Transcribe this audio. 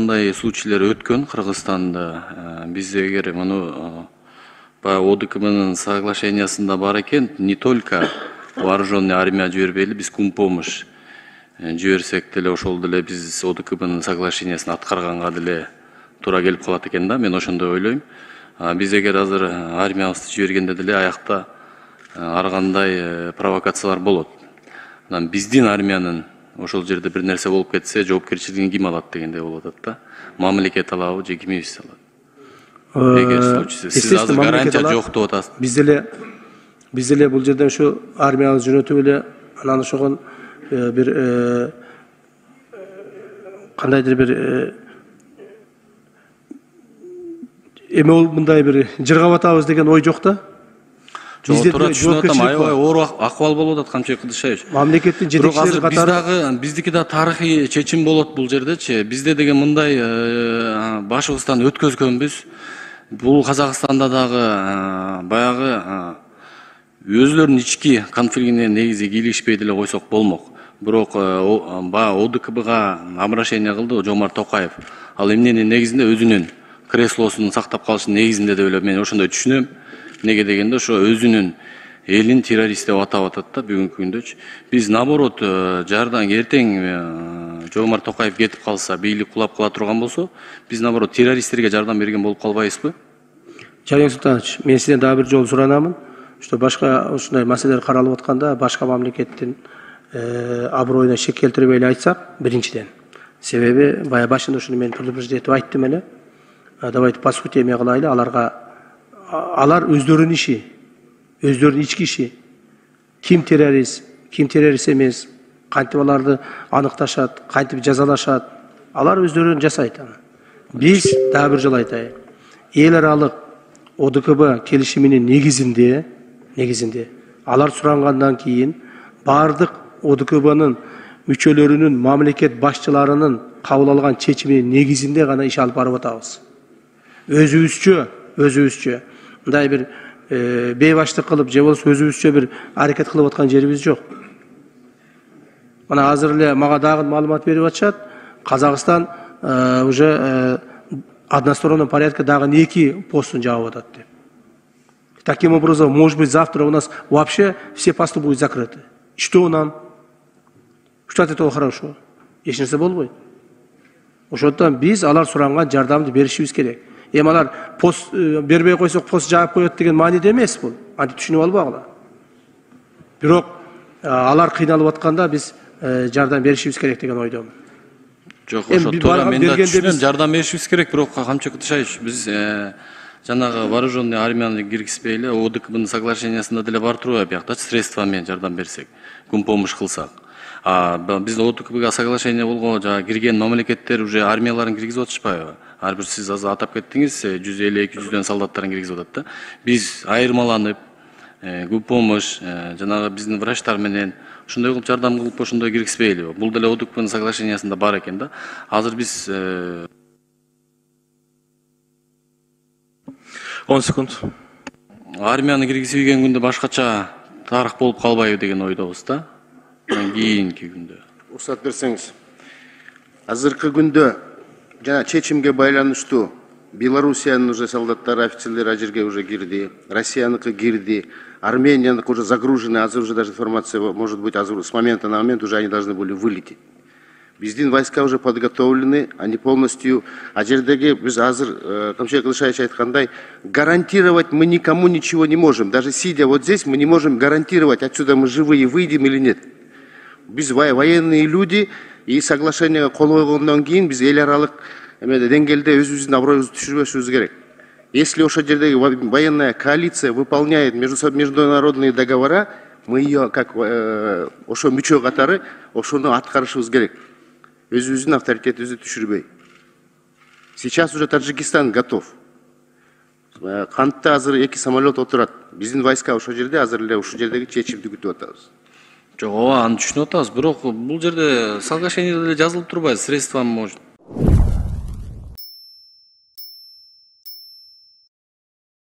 мындай случайлар өткөн Кыргызстанда. Биз эгер муну баягы ОДКБнын соглашениясында бар экен, не только вооруженный армия жибербейли, биз кумпомощь жиберсек деле ошол деле биз ОДКБнын соглашениясын аткарганга деле туура келип калат экен да, мен ошондой ойлойм. Биз эгер азыр армиябызды жибергенде деле аякта ар кандай провокациялар болот. Биздин армиянын ошол жерде бир нерсе болуп кетсе, жоопкерчилигин ким алат дегендей болуп атат да. Мамлекет алабы же кимибиз алат? Эгер случайсы сиз азыр гарантия жок деп атасыз. Биз деле бул жерде ушу армиябызды жөнөтүп эле анан ошогон бир кандайдыр бир эме мындай бир жыргап атабыз деген ой жок да. Жок, туура түшүнүп атам. Аябай оор акыбал болуп атат Камчыбек Кыдышаевич. Мамлекеттин жетекчилери катары биздики да тарыхый чечим болот бул жердечи. Бизде деген мындай башыбыздан өткөзгөнбүз. Бул Казакстанда дагы баягы өзлөрүнүн ички конфликтине негизи кийлигишпей деле койсок болмок. Бирок баягы ОДКБга обращение кылды Жомарт Токаев. Ал эмненин негизинде өзүнүн креслосун сактап калыштын негизинде деп эле мен ошондой түшүнөм. Неге дегенде ошо өзүнүн элин террорист деп атап атат да бүгүнкү күндөчү. Биз наоборот жардам эртең Жомарт Токаев кетип калса, бийлик кулап кала турган болсо, биз наоборот террористтерге жардам берген болуп калбайбызбы? Жаник Султанович, мен сизден дагы бир жолу суранамын. Что башка ушундай маселелер каралып атканда башка мамлекеттин аброюна шек келтирбей эле айтсак, биринчиден. Себеби бая башында ушуну мен предупреждетип айттым эле. Давайте по сути эме кылайлы, алар өздөрүнүн иши, өздөрүнүн ички иши. Ким террорист эмес, кантип аларды аныкташат, кантип жазалашат, алар өздөрүн жасайт аны. Биз дагы бир жолу айтайын. Эл аралык ОДКБ келишиминин негизинде алар сурангандан кийин бардык ОДКБнын мүчөлөрүнүн, мамлекет башчыларынын кабыл алган чечиминин негизинде гана иш алып барып атабыз. Өзүбүзчө мындай бир бейбаштык кылып же болбосо өзүбүзчө бир аракет кылып аткан жерибиз жок. Мына азыр эле мага дагы маалымат берип атышат. Казакстан уже одностороннем порядке дагы 2 постун жаап атат деп. Таким образом, может быть, завтра у нас вообще все посты будут закрыты. Что нам? Что от этого хорошо? Эч нерсе болбойт. Ошондон биз алар суранган жардамды беришибиз керек. Эми алар пост бербей койсок пост жаап коет деген мааниде эмес бул. Антип түшүнүп албагыла. Бирок алар кыйналып атканда биз жардам беришибиз керек деген ойдомун. Жок, ошо туура мен да түшүнөм, жардам беришибиз керек, бирок Камчыбек Кыдышаевич, биз жанагы вооруженный армияны киргизбей эле ОДКБнын соглашениясында деле бар турбайбы, бияктачы средства менен жардам берсек, кумпомощь кылсак. Биз ОДКБга соглашение болгон жана кирген мамлекеттер уже армияларын киргизип атышпайбы? Ар бир сиз азыр атап кеттиңиз, 150-200дөн солдаттарын киргизип атат да. Биз айырмаланып, кумпомощь жанагы биздин врачтар менен ошондой кылып жардам кылып ошондой киргизбейли? Бул деле ОДКБнын соглашениясында бар экен да. Азыр биз 10 секунд. Армияны киргизбеген күндө башкача тарых болуп калбайбы деген ойдобуз да. Кийинки күндө. Уруксат берсеңиз. Азыркы күндө жана чечимге байланыштуу Белоруссиянын уже солдаттары, офицерлери ажерге уже кирди, Россияныкы кирди, Арменияныкы уже загружены, азыр уже даже информация может быть азыр с момента на момент уже они должны были вылететь. Биздин войска уже подготовлены, они полностью ажердеги биз азыр Камчыбек Кыдышаевич айткандай гарантировать мы никому ничего не можем. Даже сидя вот здесь мы не можем гарантировать, отсюда мы живые выйдем или нет. Биз военные люди и соглашениеге кол койгондон кийин биз эл аралык деңгээлде өзүбүздүн аброюбузду түшүрбөшүбүз керек. Если ошол жердеги военная коалиция выполняет международные договора, мы ее как ошо мүчө катары ошону аткарышыбыз керек. Өзүбүздүн авторитетибизди түшүрбөй. Сейчас уже Таджикистан готов. Кантта азыр 2 самолет отурат. Биздин войска ошол жерде азыр эле ушул жердеги чечимди күтүп атабыз. Жок, ооба, аны түшүнүп атабыз, бирок бул жерде соглашениеде жазылып турбайбы, средства может